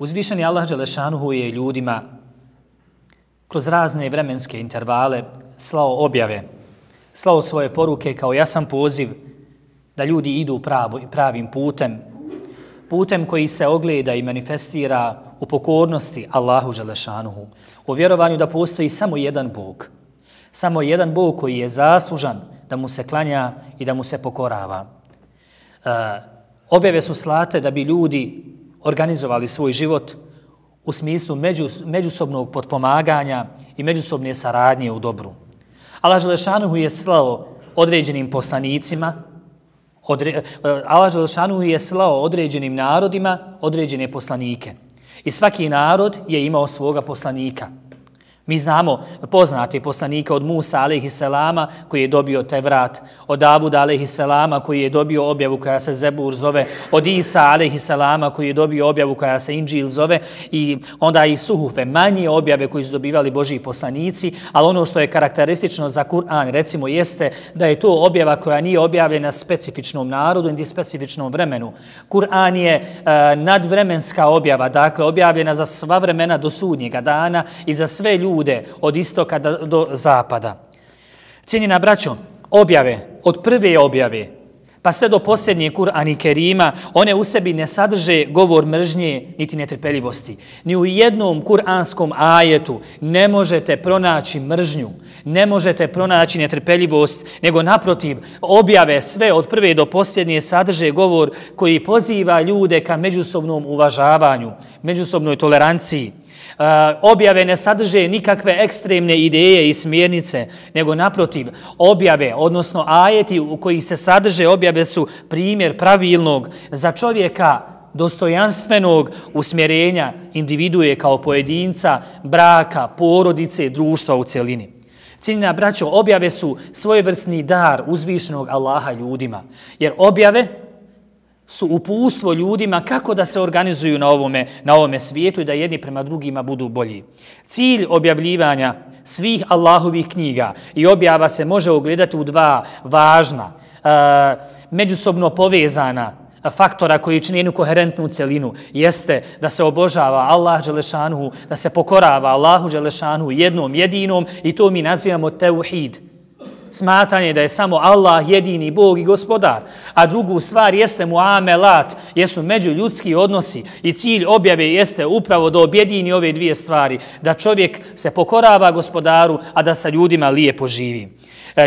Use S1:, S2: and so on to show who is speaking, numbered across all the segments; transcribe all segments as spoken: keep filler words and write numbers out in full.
S1: Uzvišeni Allah dželešanuhu je ljudima kroz razne vremenske intervale slao objave, slao svoje poruke kao jasan poziv da ljudi idu pravim putem, putem koji se ogleda i manifestira u pokornosti Allahu dželešanuhu, u vjerovanju da postoji samo jedan Bog, samo jedan Bog koji je zaslužan da mu se klanja i da mu se pokorava. E, objave su slate da bi ljudi organizovali svoj život u smislu međus, međusobnog potpomaganja i međusobne saradnje u dobru. Allah dželešanuhu je slao određenim poslanicima, odre, Allah dželešanuhu je slao određenim narodima određene poslanike. I svaki narod je imao svoga poslanika. Mi znamo poznate poslanike od Musa alejhiselama koji je dobio Tevrat, od Davuda alejhiselama koji je dobio objavu koja se Zebur zove, od Isa alejhiselama koji je dobio objavu koja se Inđil zove i onda i Suhufe, manje objave koji su dobivali Božji poslanici, ali ono što je karakteristično za Kur'an recimo jeste da je to objava koja nije objavljena specifičnom narodu niti specifičnom vremenu. Kur'an je e, nadvremenska objava, dakle objavljena za sva vremena do sudnjega dana i za sve ljude od istoka do zapada. Cijenjena braćo, objave, od prve objave pa sve do posljednje Kur'an i Kerima, one u sebi ne sadrže govor mržnje niti netrpeljivosti. Ni u jednom kur'anskom ajetu ne možete pronaći mržnju, ne možete pronaći netrpeljivost, nego naprotiv, objave sve od prve do posljednje sadrže govor koji poziva ljude ka međusobnom uvažavanju, međusobnoj toleranciji. Uh, objave ne sadrže nikakve ekstremne ideje i smjernice, nego naprotiv, objave, odnosno ajeti u kojih se sadrže objave su primjer pravilnog za čovjeka dostojanstvenog usmjerenja individue kao pojedinca, braka, porodice, društva u cjelini. Cijenjena braćo, objave su svojevrsni dar uzvišenog Allaha ljudima, jer objave su uputstvo ljudima kako da se organizuju na ovome, na ovome svijetu i da jedni prema drugima budu bolji. Cilj objavljivanja svih Allahovih knjiga i objava se može ogledati u dva važna, e, međusobno povezana faktora koji čini jednu koherentnu celinu, jeste da se obožava Allah dželešanuhu, da se pokorava Allahu dželešanuhu jednom jedinom i to mi nazivamo teuhid. Smatranje da je samo Allah jedini Bog i gospodar, a drugu stvar jeste muamelat, jesu međuljudski odnosi i cilj objave jeste upravo da objedini ove dvije stvari, da čovjek se pokorava gospodaru, a da sa ljudima lijepo živi.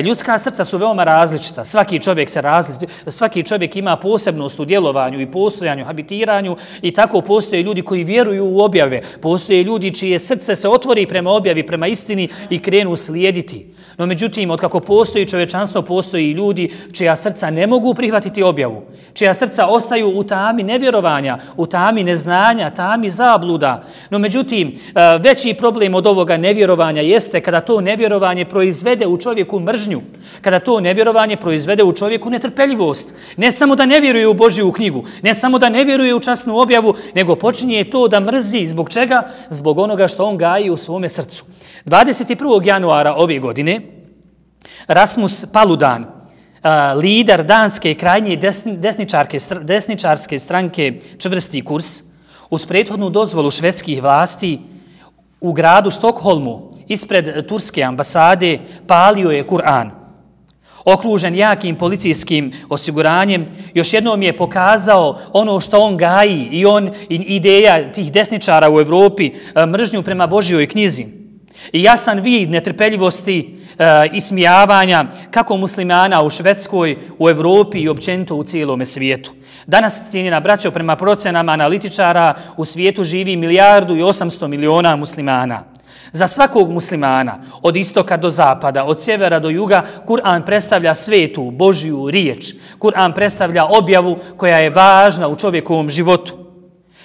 S1: Ljudska srca su veoma različita, svaki čovjek se različit, svaki čovjek ima posebnost u djelovanju i postojanju, habitiranju i tako postoje ljudi koji vjeruju u objave, postoje ljudi čije srce se otvori prema objavi, prema istini i krenu slijediti. No međutim, otkako postoji čovječanstvo, postoji i ljudi čija srca ne mogu prihvatiti objavu, čija srca ostaju u tami nevjerovanja, u tami neznanja, tami zabluda. No međutim, veći problem od ovoga nevjerovanja jeste kada to nevjerovanje proizvede u čovjeku mržnju, kada to nevjerovanje proizvede u čovjeku netrpeljivost. Ne samo da ne vjeruje u Božju knjigu, ne samo da ne vjeruje u časnu objavu, nego počinje to da mrzi. Zbog čega? Zbog onoga što on gaji u svome srcu. dvadeset prvog januara ove godine Rasmus Paludan, lider danske krajnje desničarke, desničarske stranke Čvrsti kurs, uz prethodnu dozvolu švedskih vlasti u gradu Štokholmu ispred turske ambasade palio je Kur'an. Okružen jakim policijskim osiguranjem, još jednom je pokazao ono što on gaji i on i ideja tih desničara u Evropi, mržnju prema Božjoj knjizi. I jasan vid netrpeljivosti e, i smijavanja kako muslimana u Švedskoj, u Evropi i općenito u cijelome svijetu. Danas, cijenjena braćo, prema procenama analitičara u svijetu živi milijardu i osamsto miliona muslimana. Za svakog muslimana, od istoka do zapada, od sjevera do juga, Kur'an predstavlja svetu, Božju riječ. Kur'an predstavlja objavu koja je važna u čovjekovom životu.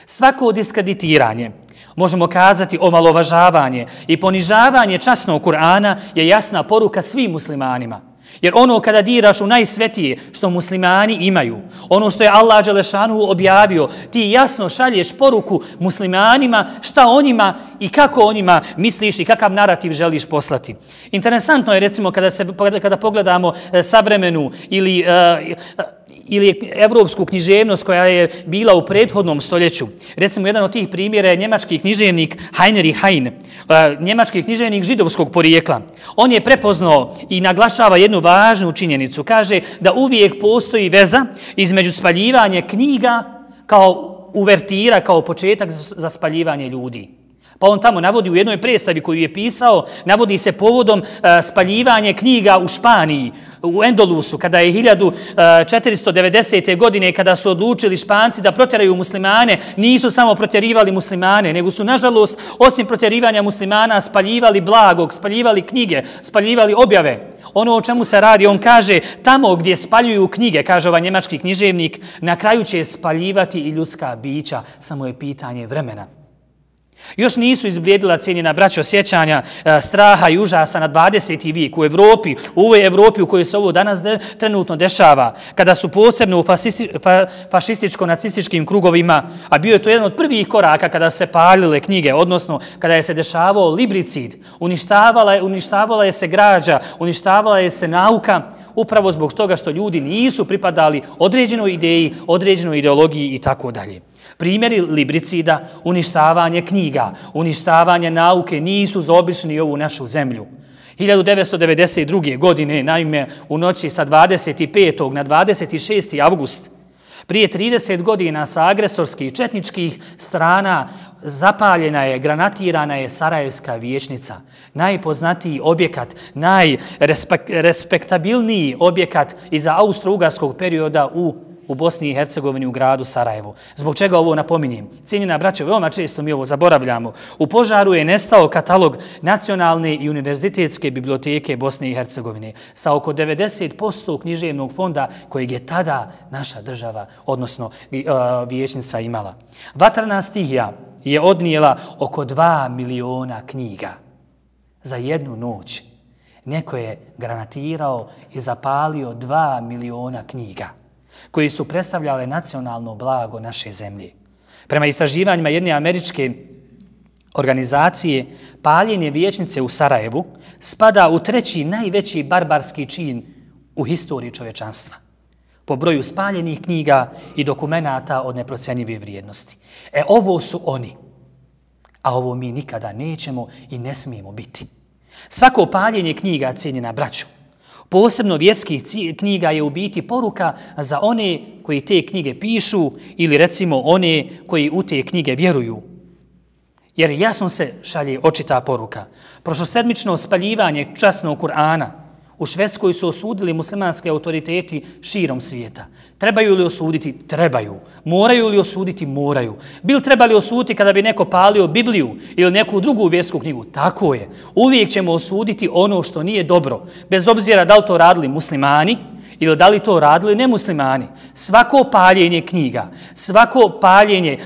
S1: Svako diskreditiranje, možemo kazati omalovažavanje i ponižavanje časnog Kur'ana je jasna poruka svim muslimanima. Jer ono kada diraš u najsvetije što muslimani imaju, ono što je Allah dželešanuhu objavio, ti jasno šalješ poruku muslimanima šta o njima i kako o njima misliš i kakav narativ želiš poslati. Interesantno je recimo kada, se, kada pogledamo savremenu ili uh, ili evropsku književnost koja je bila u prethodnom stoljeću. Recimo, jedan od tih primjera je njemački književnik Heinrich Heine, njemački književnik židovskog porijekla. On je prepoznao i naglašava jednu važnu činjenicu. Kaže da uvijek postoji veza između spaljivanja knjiga kao uvertira, kao početak za spaljivanje ljudi. Pa on tamo navodi u jednoj predstavi koju je pisao, navodi se povodom uh, spaljivanje knjiga u Španiji, u Endolusu, kada je hiljadu četiristo devedesete. godine, kada su odlučili Španci da protjeraju muslimane, nisu samo protjerivali muslimane, nego su, nažalost, osim protjerivanja muslimana, spaljivali blagog, spaljivali knjige, spaljivali objave. Ono o čemu se radi, on kaže, tamo gdje spaljuju knjige, kaže ovaj njemački književnik, na kraju će spaljivati i ljudska bića, samo je pitanje vremena. Još nisu izblijedila, cijenjena braćo, sjećanja straha i užasa na dvadeseti vijek u Evropi, u ovoj Evropi u kojoj se ovo danas de, trenutno dešava, kada su posebno u fasisti, fa, fašističko-nacističkim krugovima, a bio je to jedan od prvih koraka kada se palile knjige, odnosno kada je se dešavao libricid, uništavala je, uništavala je se građa, uništavala je se nauka, upravo zbog toga što ljudi nisu pripadali određenoj ideji, određenoj ideologiji i tako dalje. Primjeri libricida, uništavanje knjiga, uništavanje nauke nisu zaobišli ovu našu zemlju. hiljadu devetsto devedeset druge. godine, naime, u noći sa dvadeset petog na dvadeset šesti avgust, prije trideset godina sa agresorskih četničkih strana zapaljena je, granatirana je Sarajevska vijećnica. Najpoznatiji objekat, najrespektabilniji objekat iza austro-ugarskog perioda u u Bosni i Hercegovini, u gradu Sarajevu. Zbog čega ovo napominjem? Cijenjena braćo, veoma često mi ovo zaboravljamo. U požaru je nestao katalog Nacionalne i univerzitetske biblioteke Bosne i Hercegovine sa oko devedeset posto književnog fonda kojeg je tada naša država, odnosno vijećnica, imala. Vatrena stihija je odnijela oko dva miliona knjiga za jednu noć. Neko je granatirao i zapalio dva miliona knjiga koji su predstavljale nacionalno blago naše zemlje. Prema istraživanjima jedne američke organizacije, paljenje vijećnice u Sarajevu spada u treći najveći barbarski čin u historiji čovječanstva, po broju spaljenih knjiga i dokumenata od neprocenjive vrijednosti. E, ovo su oni, a ovo mi nikada nećemo i ne smijemo biti. Svako paljenje knjiga, cijenjena braćo, posebno vjerskih knjiga, je u biti poruka za one koji te knjige pišu ili recimo one koji u te knjige vjeruju. Jer jasno se šalje očita poruka. Prošlosedmično spaljivanje časnog Kur'ana u Švedskoj su osudili muslimanske autoriteti širom svijeta. Trebaju li osuditi? Trebaju. Moraju li osuditi? Moraju. Bil trebali osuditi kada bi neko palio Bibliju ili neku drugu vjersku knjigu? Tako je. Uvijek ćemo osuditi ono što nije dobro, bez obzira da li to radili muslimani ili da li to radili nemuslimani. Svako paljenje knjiga, svako paljenje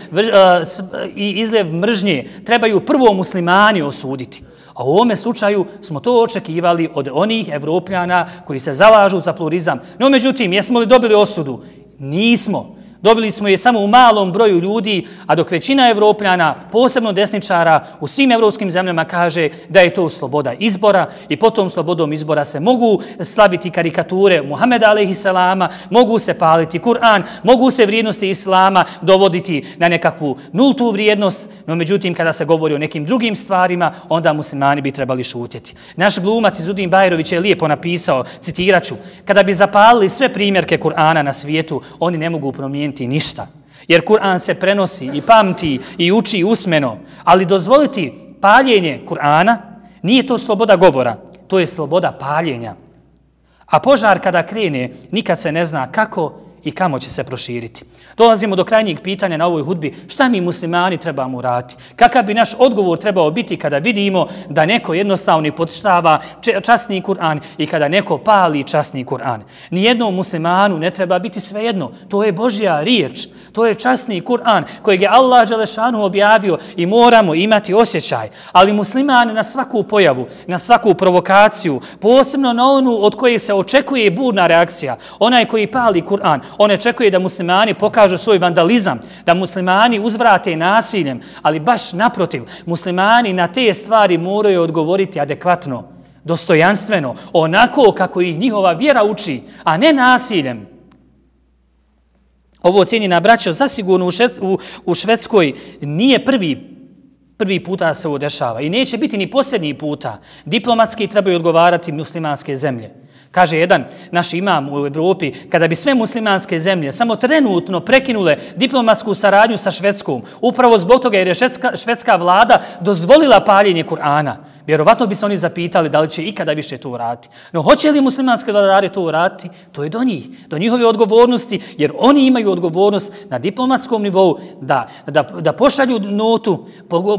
S1: i izljev mržnje trebaju prvo muslimani osuditi. A u ovome slučaju smo to očekivali od onih Evropljana koji se zalažu za pluralizam. No, međutim, jesmo li dobili osudu? Nismo. Dobili smo je samo u malom broju ljudi, a dok većina Evropljana, posebno desničara, u svim evropskim zemljama kaže da je to sloboda izbora i potom slobodom izbora se mogu slaviti karikature Muhameda alejhiselama, mogu se paliti Kur'an, mogu se vrijednosti islama dovoditi na nekakvu nultu vrijednost, no međutim kada se govori o nekim drugim stvarima, onda muslimani bi trebali šutjeti. Naš glumac Izudin Bajrović je lijepo napisao, citiraću, kada bi zapalili sve primjerke Kur'ana na svijetu, oni ne mogu promijeniti ništa. Jer Kur'an se prenosi i pamti i uči usmeno, ali dozvoliti paljenje Kur'ana nije to sloboda govora, to je sloboda paljenja. A požar kada krene, nikad se ne zna kako i kamo će se proširiti. Dolazimo do krajnjeg pitanja na ovoj hudbi, šta mi muslimani trebamo uraditi? Kakav bi naš odgovor trebao biti kada vidimo da neko jednostavno potištava časni Kur'an i kada neko pali časni Kur'an? Nijednom muslimanu ne treba biti svejedno. To je Božja riječ. To je časni Kur'an kojeg je Allah dželešanu objavio i moramo imati osjećaj. Ali musliman na svaku pojavu, na svaku provokaciju, posebno na onu od koje se očekuje burna reakcija, onaj koji pali Kur'an, on očekuje da muslimani pokažu svoj vandalizam, da muslimani uzvrate nasiljem, ali baš naprotiv, muslimani na te stvari moraju odgovoriti adekvatno, dostojanstveno, onako kako ih njihova vjera uči, a ne nasiljem. Ovo cijenjena braćo, zasigurno u, Šved, u, u Švedskoj nije prvi Prvi puta se ovo dešava i neće biti ni posljednji puta. Diplomatski trebaju odgovarati muslimanske zemlje. Kaže jedan naš imam u Evropi, kada bi sve muslimanske zemlje samo trenutno prekinule diplomatsku saradnju sa Švedskom, upravo zbog toga jer je švedska, švedska vlada dozvolila paljenje Kur'ana, vjerovatno bi se oni zapitali da li će ikada više to uraditi. No hoće li muslimanske vladare to uraditi? To je do njih, do njihove odgovornosti, jer oni imaju odgovornost na diplomatskom nivou da, da, da pošalju notu,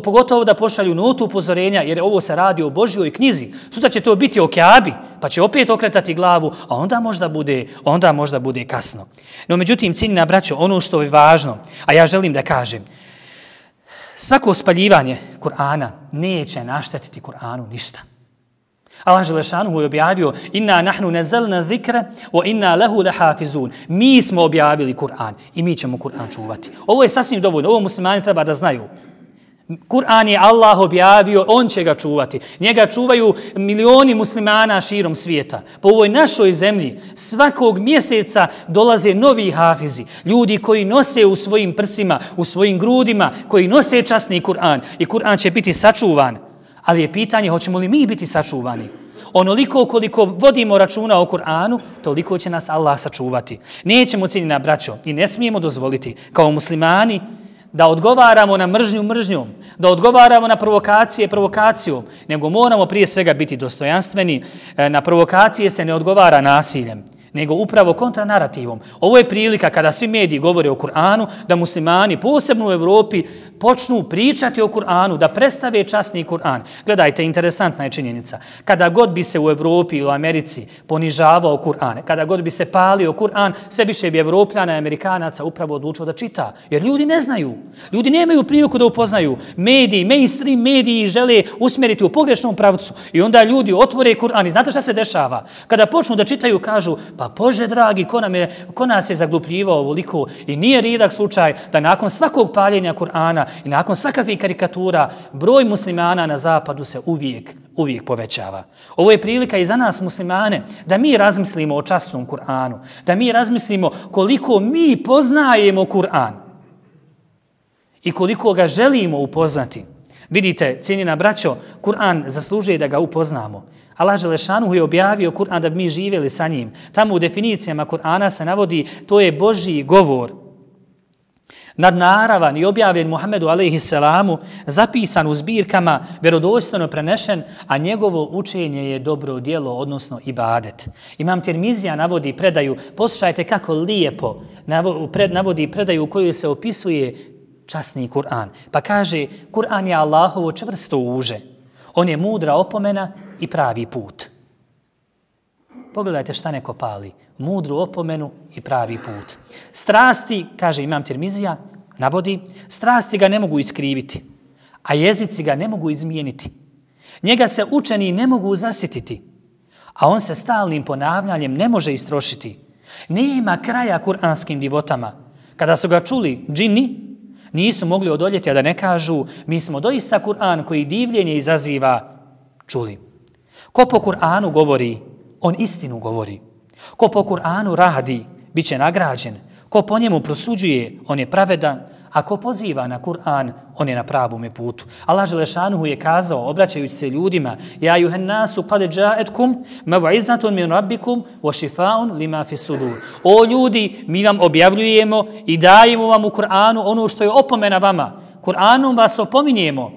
S1: pogotovo da pošalju notu upozorenja, jer ovo se radi o Božjoj knjizi. Sutra će to biti o Kjabi, pa će opet okretati glavu, a onda možda bude, onda možda bude kasno. No međutim, cijenjena braćo, ono što je važno, a ja želim da kažem, svako spaljivanje Kur'ana neće naštetiti Kur'anu ništa. Allah Želešanuhu je objavio inna nahnu nazalna zikra wa inna lahu lahafizun. Mi smo objavili Kur'an i mi ćemo Kur'an čuvati. Ovo je sasvim dovoljno, ovo muslimani treba da znaju. Kur'an je Allah objavio, on će ga čuvati. Njega čuvaju milioni muslimana širom svijeta. Po ovoj našoj zemlji svakog mjeseca dolaze novi hafizi, ljudi koji nose u svojim prsima, u svojim grudima, koji nose časni Kur'an i Kur'an će biti sačuvan. Ali je pitanje hoćemo li mi biti sačuvani. Onoliko koliko vodimo računa o Kur'anu, toliko će nas Allah sačuvati. Nećemo, cijenjena braćo, i ne smijemo dozvoliti kao muslimani da odgovaramo na mržnju mržnjom, da odgovaramo na provokacije provokacijom, nego moramo prije svega biti dostojanstveni. Na provokacije se ne odgovara nasiljem, nego upravo kontranarativom. Ovo je prilika kada svi mediji govore o Kur'anu, da muslimani, posebno u Evropi, počnu pričati o Kur'anu, da predstave časni Kur'an. Gledajte, interesantna je činjenica. Kada god bi se u Evropi ili u Americi ponižavao Kur'an, kada god bi se palio Kur'an, sve više bi Evropljana i Amerikanaca upravo odlučio da čita. Jer ljudi ne znaju. Ljudi nemaju priliku da upoznaju. Mediji, mainstream mediji žele usmjeriti u pogrešnom pravcu. I onda ljudi otvore Kur'an. I znate šta se dešava? Kada počnu da čitaju, kažu, pa Bože dragi, ko, nam je, ko nas je zaglupljivao ovoliko? I nije rijedak slučaj da nakon svakog paljenja Kur'ana i nakon svakakvih karikatura broj muslimana na zapadu se uvijek, uvijek povećava. Ovo je prilika i za nas muslimane da mi razmislimo o časnom Kur'anu, da mi razmislimo koliko mi poznajemo Kur'an i koliko ga želimo upoznati. Vidite, cijenjena braćo, Kur'an zaslužuje da ga upoznamo. Allah Želešanuhu je objavio Kur'an da bi mi živjeli sa njim. Tamo u definicijama Kur'ana se navodi to je Božji govor. Nadnaravan i objavljen Muhammedu alejhi selamu, zapisan u zbirkama, vjerodostojno prenešen, a njegovo učenje je dobro djelo, odnosno ibadet. Imam Tirmizija navodi predaju, poslušajte kako lijepo navodi predaju u kojoj se opisuje časni Kur'an. Pa kaže, Kur'an je Allahovo čvrsto uže. On je mudra opomena i pravi put. Pogledajte šta neko pali. Mudru opomenu i pravi put. Strasti, kaže imam Tirmizija, navodi, strasti ga ne mogu iskriviti, a jezici ga ne mogu izmijeniti. Njega se učeni ne mogu zasjetiti, a on se stalnim ponavljanjem ne može istrošiti. Nema kraja kuranskim divotama. Kada su ga čuli džini, nisu mogli odoljeti, a da ne kažu, mi smo doista Kur'an koji divljenje izaziva čuli. Ko po Kur'anu govori, on istinu govori. Ko po Kur'anu radi, bit će nagrađen. Ko po njemu prosuđuje, on je pravedan. A ko poziva na Kur'an, on je na pravome putu. Allah Želešanuhu je kazao, obraćajući se ljudima, ja juhen nasu kad džaetkum mav'izatun min rabbikum wa šifaun lima fi sudur. O ljudi, mi vam objavljujemo i dajemo vam u Kur'anu ono što je opomena vama. Kur'anom vas opominjemo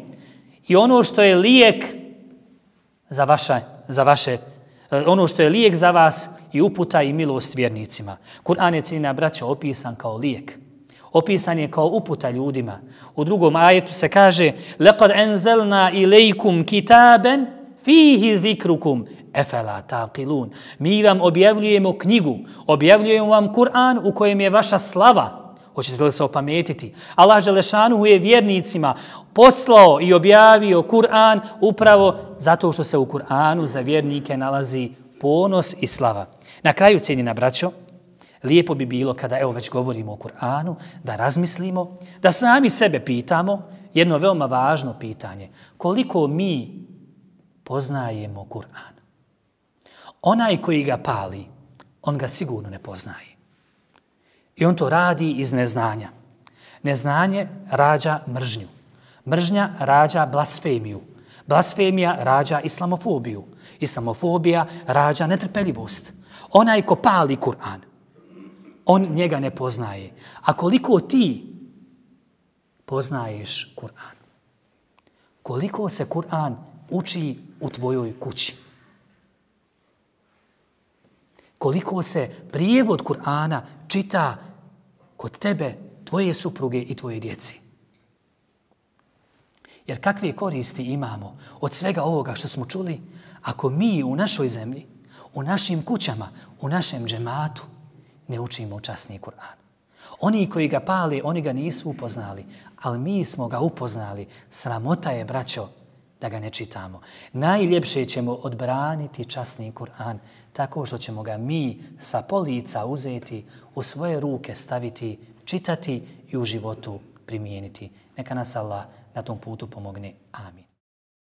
S1: i ono što je lijek za vaše, za vaše ono što je lijek za vas i uputa i milost vjernicima. Kur'an je, cijenjena braćo, opisan kao lijek. Opisan je kao uputa ljudima. U drugom ajetu se kaže لَقَدْ أَنْزَلْنَا إِلَيْكُمْ كِتَابًا فِيهِ ذِكْرُكُمْ أَفَلَا تَعْقِلُونَ. Mi vam objavljujemo knjigu, objavljujemo vam Kur'an u kojem je vaša slava. Hoćete li se opametiti? Allah Želešanuhu je vjernicima poslao i objavio Kur'an upravo zato što se u Kur'anu za vjernike nalazi ponos i slava. Na kraju, cijenjena braćo, lijepo bi bilo kada, evo već govorimo o Kur'anu, da razmislimo, da sami sebe pitamo jedno veoma važno pitanje. Koliko mi poznajemo Kur'an? Onaj koji ga pali, on ga sigurno ne poznaje. I on to radi iz neznanja. Neznanje rađa mržnju. Mržnja rađa blasfemiju. Blasfemija rađa islamofobiju. Islamofobija rađa netrpeljivost. Onaj ko pali Kur'an, on njega ne poznaje. A koliko ti poznaješ Kur'an? Koliko se Kur'an uči u tvojoj kući? Koliko se prijevod Kur'ana čita kod tebe, tvoje supruge i tvoje djeci? Jer kakve koristi imamo od svega ovoga što smo čuli ako mi u našoj zemlji, u našim kućama, u našem džematu ne učimo časni Kur'an? Oni koji ga pale, oni ga nisu upoznali, ali mi smo ga upoznali. Sramota je, braćo, da ga ne čitamo. Najljepše ćemo odbraniti časni Kur'an tako što ćemo ga mi sa polica uzeti, u svoje ruke staviti, čitati i u životu primijeniti. Neka nas Allah na tom putu pomogne. Amin.